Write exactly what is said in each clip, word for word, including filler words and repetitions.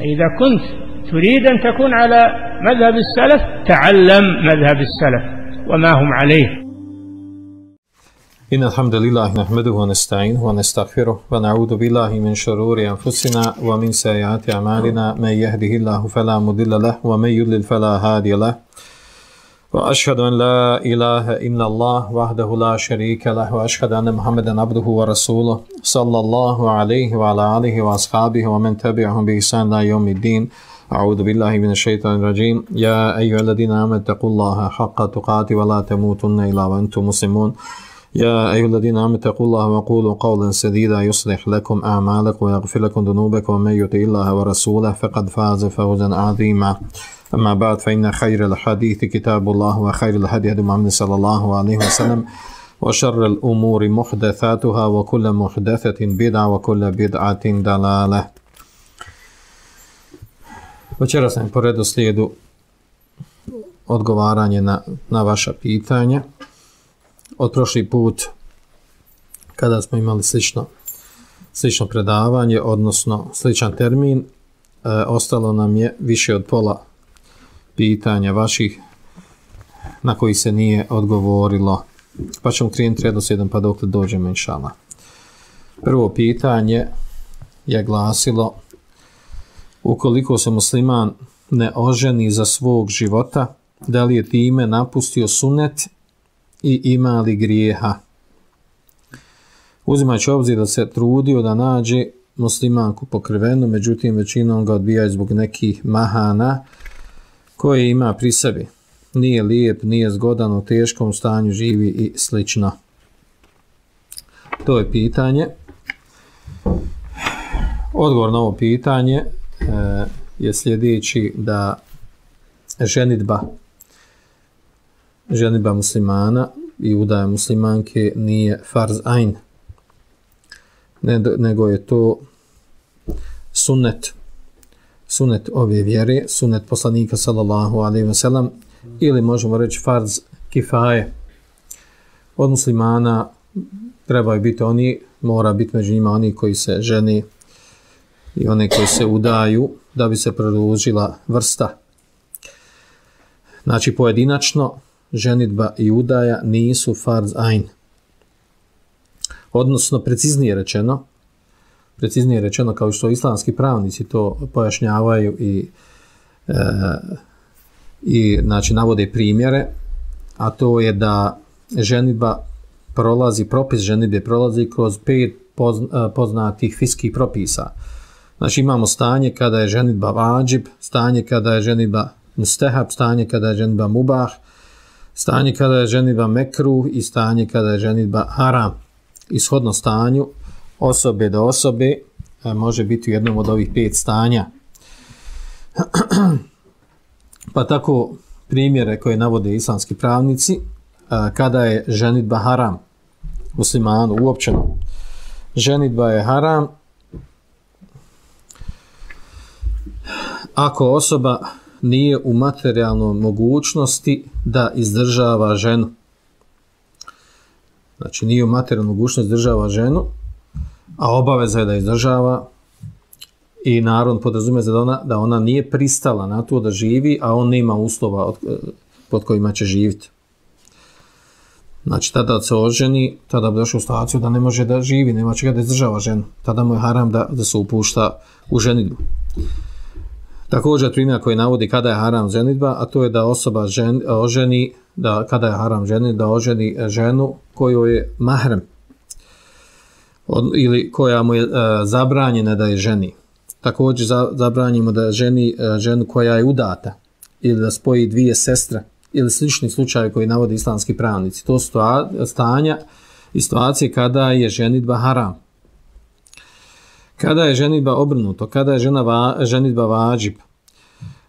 إذا كنت تريد أن تكون على مذهب السلف تعلم مذهب السلف وما هم عليه. إن الحمد لله نحمده ونستعينه ونستغفره ونعوذ بالله من شرور أنفسنا ومن سيئات أعمالنا من يهده الله فلا مضل له ومن يضلل فلا هادي له وأشهد أن لا إله إلا الله وحده لا شريك له وأشهد أن محمدا عبده ورسوله صلى الله عليه وعلى آله وأصحابه ومن تبعهم بإحسان إلى يوم الدين. أعوذ بالله من الشيطان الرجيم. يا أيها الذين آمنوا اتقوا الله حق تقاته ولا تموتن إلا وأنتم مسلمون. يا أيها الذين آمنوا اتقوا الله وقولوا قولا سديدا يصلح لكم أعمالكم ويغفر لكم ذنوبكم ومن يطع الله ورسوله فقد فاز فوزا عظيما. أما بعد فإن خير الحديث كتاب الله وخير الهدي هدي محمد صلى الله عليه وسلم وشر الأمور محدثاتها وكل محدثة بدعة وكل بدعة ضلالة. Večeras sam po redoslijedu odgovaranje na, na vaša pitanja. Od prošli put kada smo imali slično, slično predavanje, odnosno sličan termin, e, ostalo nam je više od pola pitanja vaših na koji se nije odgovorilo. Pa ćemo krenuti redoslijedom pa dokle dođemo inšallah. Prvo pitanje je glasilo: ukoliko se musliman ne oženi za svog života, da li je time napustio sunnet i ima li grijeha? Uzimajući obzir da se trudio da nađe muslimanku pokrivenu, međutim većinom ga odbijaju zbog nekih mahana koje ima pri sebi. Nije lijep, nije zgodan, u teškom stanju živi i slično. To je pitanje. Odgovor na ovo pitanje e, je sljedeći, da ženidba ženidba muslimana i udaja muslimanke nije farz ajn, nego je to sunnet sunnet ove vjere, sunnet poslanika sallallahu alejhi ve sellem, ili možemo reći farz kifaje. Od muslimana trebaju biti oni, mora biti među njima oni koji se ženi i one koji se udaju, da bi se produžila vrsta. Znači pojedinačno ženidba i udaja nisu farz ajn. Odnosno preciznije rečeno, preciznije rečeno kao što islamski pravnici to pojašnjavaju i e, i znači navode primjere, a to je da ženidba prolazi, propis ženidbe prolazi kroz pet poznatih fiskih propisa. Znači imamo stanje kada je ženidba vađib, stanje kada je ženidba mustehab, stanje kada je ženidba mubah, stanje kada je ženidba mekruh i stanje kada je ženidba haram. Ishodno stanju osobe do osobe može biti u jednom od ovih pet stanja. Pa tako primjere koje navode islamski pravnici, kada je ženidba haram muslimanu uopćeno. Ženidba je haram ako osoba nije u materijalnoj mogućnosti da izdržava ženu. Znači nije u materijalnoj mogućnosti da izdržava ženu, a obaveza je da izdržava, i narod podrazumije da ona, da ona nije pristala na to da živi, a on nema uslova od, pod kojima će živjeti. Znači tada se oženi, tada bi došao u situaciju da ne može da živi, nema čega da izdržava ženu. Tada mu je haram da, da se upušta u ženidbu. Također primjer koji navodi kada je haram ženidba, a to je da osoba žen, oženi, da kada je haram ženidba, da oženi ženu koju je mahrem, od, ili koja mu je e, zabranjena da je ženi. Također za, zabranjimo da ženi e, ženu koja je udata, ili da spoji dvije sestre, ili slični slučajevi koji navode islamski pravnici. To su stanja i situacije kada je ženidba haram. Kada je ženidba obrnuto, kada je žena va, ženidba vađib.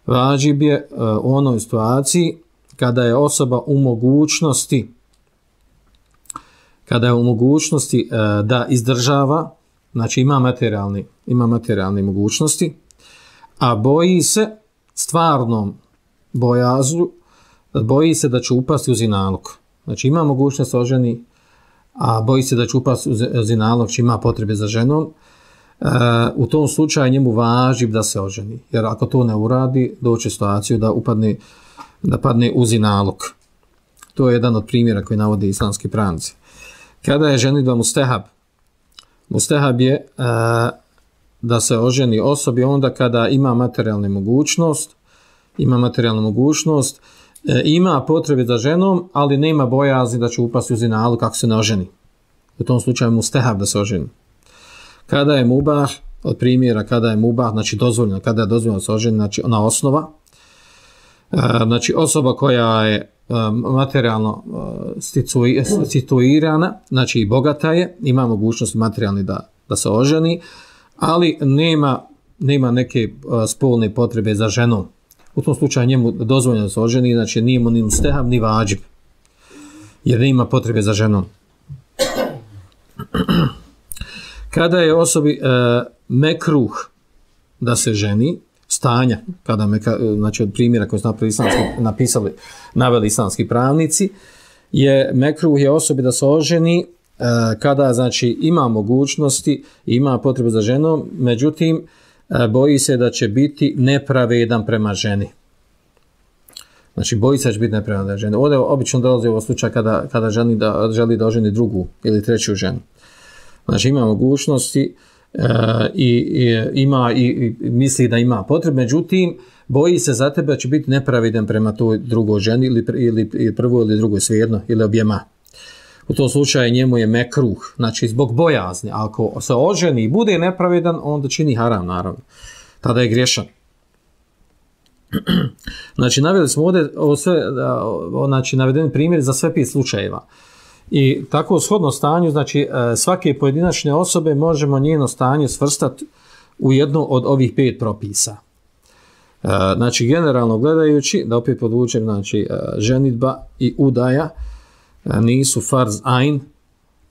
Vađib je uh, u onoj situaciji kada je osoba u mogućnosti kada je u mogućnosti uh, da izdržava, znači ima materijalni, ima materijalne mogućnosti, a boji se stvarnom bojazu, boji se da će upasti u zinalog. Znači ima mogućnost oženi, a boji se da će upasti u zinalog, či ima potrebe za ženom. u tom slučaju njemu važi da se oženi. Jer ako to ne uradi, doće situaciju da upadne, da padne u zinalog. To je jedan od primjera koji navode islamski pravnici. Kada je ženidba mustehab? Mustehab je uh, da se oženi osobi onda kada ima materijalnu mogućnost, ima materijalnu mogućnost, e, ima potrebe za ženom, ali nema bojazni da će upasti u zinalu kako se ne oženi. U tom slučaju mustehab da se oženi. Kada je mubah, od primjera kada je mubah, znači dozvoljeno, kada je dozvoljeno da se oženi, znači ona osnova, e, znači osoba koja je e, materijalno e, situirana, znači i bogata je, ima mogućnost materijalni da, da se oženi, ali nema, nema neke uh, spolne potrebe za ženom. U tom slučaju njemu dozvoljeno da se oženi, znači nije mu ni mustehab ni vađib, jer nema potrebe za ženom. Kada je osobi uh, mekruh da se ženi, stanja, kada meka, znači od primjera koje su napisali, naveli islamski pravnici, je mekruh je osobi da se oženi kada znači ima mogućnosti, ima potrebe za ženom, međutim boji se da će biti nepravedan prema ženi. Znači boji se da će biti nepravedan prema ženi. Ovdje obično dolazi ovo slučaj kada, kada želi, da, želi da oženi drugu ili treću ženu. Znači ima mogućnosti e, i, i ima i, i misli da ima potrebe, međutim boji se za tebe da će biti nepravedan prema toj drugoj ženi ili, ili, ili prvoj ili drugoj, svejedno, ili objema. U tom slučaju njemu je mekruh, znači zbog bojazni. Ako se oženi i bude nepravedan, onda čini haram, naravno. Tada je griješan. Znači, naveli smo ovdje ovo sve, znači, navedeni primjer za sve pet slučajeva. I tako u shodno stanju, znači, svake pojedinačne osobe možemo njeno stanje svrstati u jednu od ovih pet propisa. Znači, generalno gledajući, da opet podvučem, znači, ženidba i udaja, nisu farz ain,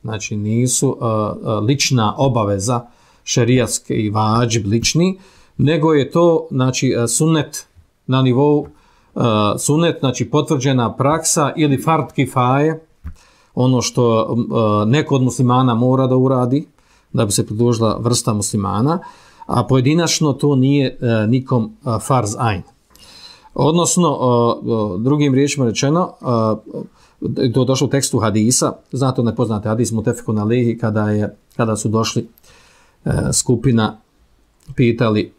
znači nisu uh, uh, lična obaveza šerijatski i vađib lični, nego je to znači sunnet na nivou uh, sunnet, znači potvrđena praksa ili fard kifaje, ono što uh, neko od muslimana mora da uradi da bi se pridružila vrsta muslimana, a pojedinačno to nije uh, nikom uh, farz ain. Odnosno, uh, uh, drugim riječima rečeno, uh, to je došlo u tekstu hadisa, znate ne poznate hadis mutefekun alejhi, kada je kada su došli e, skupina pitali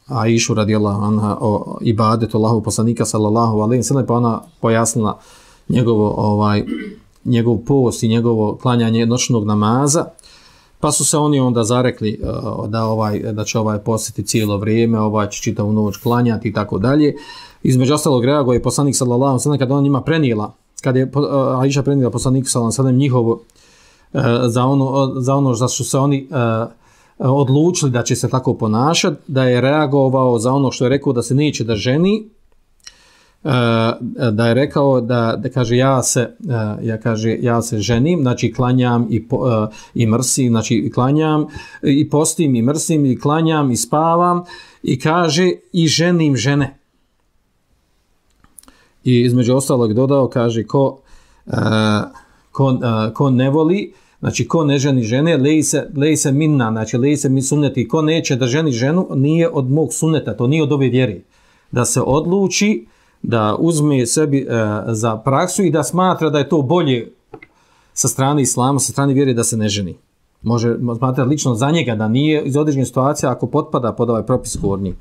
Aishu radijallahu anha o ibadetu Allahu poslanika sallallahu alejhi ve sellem, pa ona pojasnila njegovo ovaj njegov post i njegovo klanjanje noćnog namaza, pa su se oni onda zarekli uh, da ovaj da će ovaj postiti cijelo vrijeme, ovaj će čitavu noć klanjati i tako dalje. Između ostalog reaguje je poslanik sallallahu alejhi ve sellem kada on njima prenijela, kad je uh, Aisha prenijela poslaniku sallallahu alejhi ve sellem njihovo uh, za ono za ono za što se oni uh, odlučili da će se tako ponašati, da je reagovao za ono što je rekao da se neće da ženi, da je rekao da, da kaže ja se ja kaže ja se ženim, znači klanjam i i mrsim, znači i klanjam i postim i mrsim i klanjam i spavam, i kaže i ženim žene. I između ostalog dodao, kaže ko ko, ko ne voli, znači ko ne ženi žene, lej se, lej se minna, znači lej se mi sunneti, ko neće da ženi ženu, nije od mog sunneta, to nije od ove vjere. Da se odluči, da uzme sebi e, za praksu i da smatra da je to bolje sa strane islama, sa strane vjere da se ne ženi. Može smatrati lično za njega da nije iz određene situacije ako potpada pod ovaj propis gornji,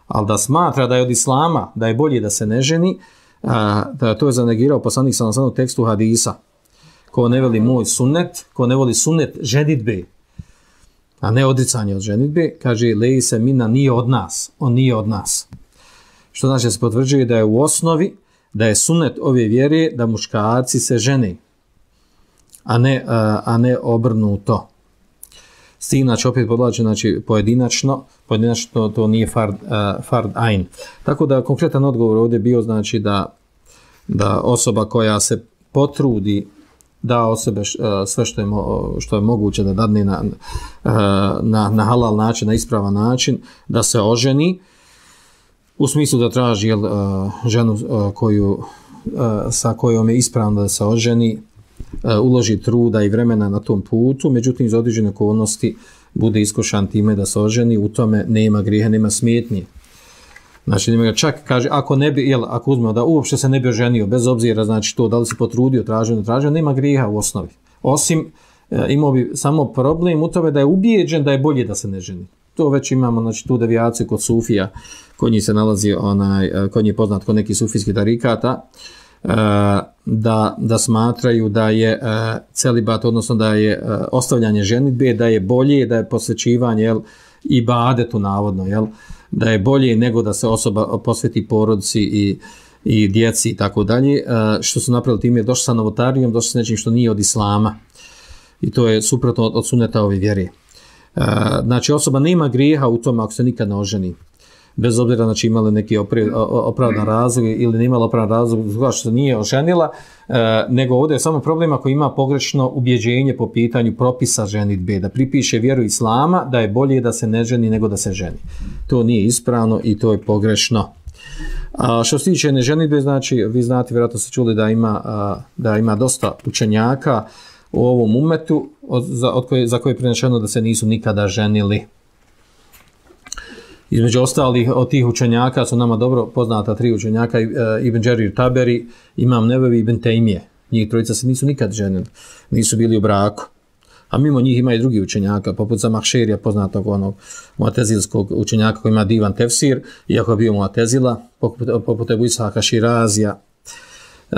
ali da smatra da je od islama, da je bolje da se ne ženi, a, da to je zanegirao poslanik sallallahu alejhi ve sellem u tekstu hadisa. Ko ne voli moj sunnet, ko ne voli sunnet ženidbe, a ne odricanje od ženidbe, kaže lej se mina, nije od nas, on nije od nas. Što znači da se potvrđuje da je u osnovi, da je sunnet ove vjere da muškarci se žene, a ne, a ne obrnuto. S tim, znači, opet podlače, znači, pojedinačno, pojedinačno to nije fard, uh, fard ain. Tako da konkretan odgovor ovdje bio, znači, da, da osoba koja se potrudi da o sebe sve što je, što je moguće da dadne na, na, na halal način, na ispravan način, da se oženi, u smislu da traži jel, ženu koju, sa kojom je ispravno da se oženi, uloži truda i vremena na tom putu, međutim iz određene okolnosti bude iskušan time da se oženi, u tome nema grijeha, nema smetnje. Znači, nema ga čak, kaže, ako ne bi, jel, ako uzmemo da uopšte se ne bi oženio, bez obzira, znači to, da li si potrudio, tražio, ne tražio, nema grijeha u osnovi. Osim, e, imao bi samo problem u tome da je ubijeđen da je bolje da se ne ženi. To već imamo, znači, tu devijaciju kod Sufija, kod njih se nalazi, onaj, kod njih je poznat kod nekih sufijskih tarikata, e, da, da smatraju da je e, celibat, odnosno da je e, ostavljanje ženidbe, da je bolje, da je posvećivanje, jel, ibadetu navodno, jel, da je bolje nego da se osoba posveti porodici i, i djeci i tako dalje, što su napravili time, došli sa novotarijom, došli sa nečim što nije od islama i to je suprotno od, od suneta ove vjere. Znači osoba nema grijeha u tome ako se nikad ne oženi, bez obzira znači imali neki opravdan razlog ili ne imala opravdan razlog zbog što se nije oženila, nego ovdje je samo problem ako ima pogrešno ubjeđenje po pitanju propisa ženidbe, da pripiše vjeru islama da je bolje da se ne ženi nego da se ženi. To nije ispravno i to je pogrešno. A što se tiče neženidbe, znači vi znate, vjerojatno ste čuli da ima, da ima dosta učenjaka u ovom umetu od, za, od koje, za koje je prenešeno da se nisu nikada ženili. Između ostalih od tih učenjaka su nama dobro poznata tri učenjaka, Ibn Đerir Taberi, Imam Nevevi i Ibn Tejmije. Njih trojica se nisu nikad ženili, nisu bili u braku. A mimo njih ima i drugi učenjaka, poput Zamahšerija, poznatog onog muatezilskog učenjaka koji ima divan tefsir, iako je bio muatezila, poput, poput Ebu Ishaka Širazija, uh,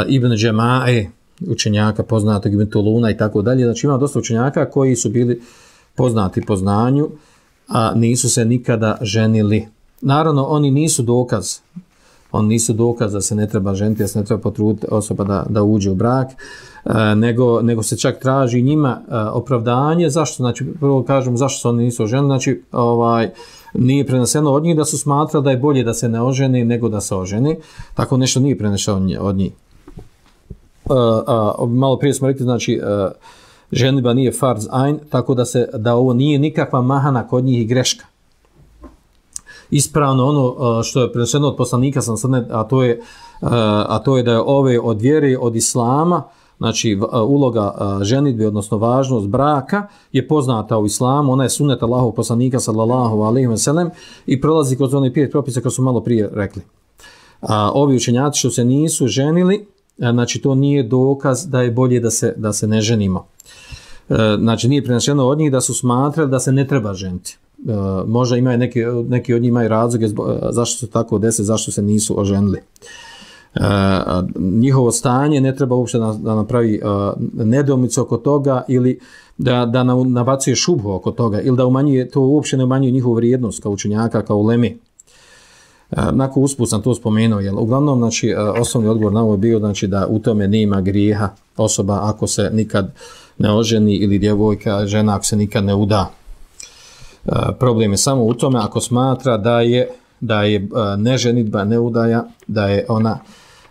Ibn Džemae, učenjaka poznatog Ibn Tuluna i tako dalje. Znači ima dosta učenjaka koji su bili poznati po znanju, a nisu se nikada ženili. Naravno, oni nisu dokaz, oni nisu dokaz da se ne treba ženiti, da se ne treba potruditi osoba da, da uđe u brak, e, nego, nego se čak traži njima e, opravdanje. Zašto? Znači, prvo kažemo zašto se oni nisu oženili, znači ovaj, nije preneseno od njih da su smatrali da je bolje da se ne oženi nego da se oženi. Tako nešto nije preneseno od njih. E, a, malo prije smo rekli, znači, e, ženidba nije farz ajn, tako da se da ovo nije nikakva mahana kod njih i greška. Ispravno ono što je preneseno od poslanika sam sad, a to je a to je da je ove od vjere, od islama, znači uloga ženidbe, odnosno važnost braka je poznata u islamu, ona je sunnet Allahovog poslanika sallallahu alejhi ve sellem i prolazi kroz one pet propisa koje su malo prije rekli. A ovi učenjaci što se nisu ženili, znači to nije dokaz da je bolje da se da se ne ženimo. Znači nije preneseno od njih da su smatrali da se ne treba ženiti. Uh, možda imaju neki, neki od njih imaju razloge zašto se tako desi, zašto se nisu oženili. Uh, njihovo stanje ne treba uopšte da, da napravi uh, nedoumicu oko toga ili da, da nabacuje šubhu oko toga ili da umanjuje, to uopšte ne umanjuje njihovu vrijednost kao učenjaka, kao ulemi. Uh, nakon usput sam to spomenuo, jer uglavnom znači, uh, osnovni odgovor na ovo je bio znači, da u tome nema grijeha osoba ako se nikad ne oženi ili djevojka, žena ako se nikad ne uda. Uh, problem je samo u tome ako smatra da je da je uh, neženitba, neudaja, da je ona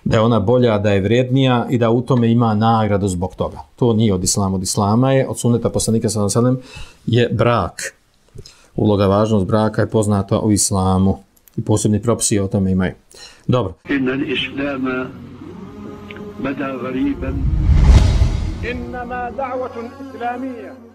da je ona bolja, da je vrednija i da u tome ima nagradu zbog toga. To nije od islama, od islama je, od sunneta poslanika sallallahu alejhi ve sellem je brak. Uloga, važnost braka je poznata u islamu i posebni propisi o tome imaju. Dobro. Innal islama bada ghariban innama da'watun islamiyya